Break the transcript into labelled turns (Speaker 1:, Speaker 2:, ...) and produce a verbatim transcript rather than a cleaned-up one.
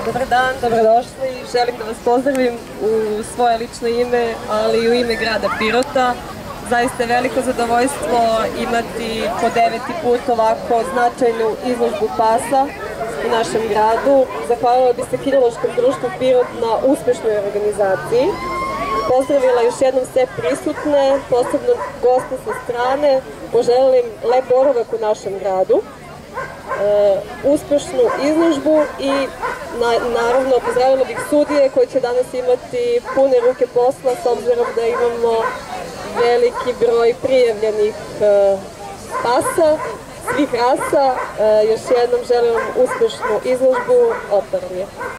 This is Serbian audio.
Speaker 1: Dobar dan, dobrodošli. Želim da vas pozdravim u svoje lično ime, ali i u ime grada Pirota. Zaista je veliko zadovoljstvo imati po deveti put ovako značajnu izložbu pasa u našem gradu. Zahvalila bi se Kinološkom društvu Pirot na uspešnoj organizaciji. Pozdravila još jednom sve prisutne, posebno goste sa strane. Poželim lep boravak u našem gradu, uspešnu izložbu i naravno pozdravila bih sudije koji će danas imati pune ruke posla s obzirom da imamo veliki broj prijavljenih pasa, svih rasa. Još jednom želim vam uspešnu izložbu. Otvaram je.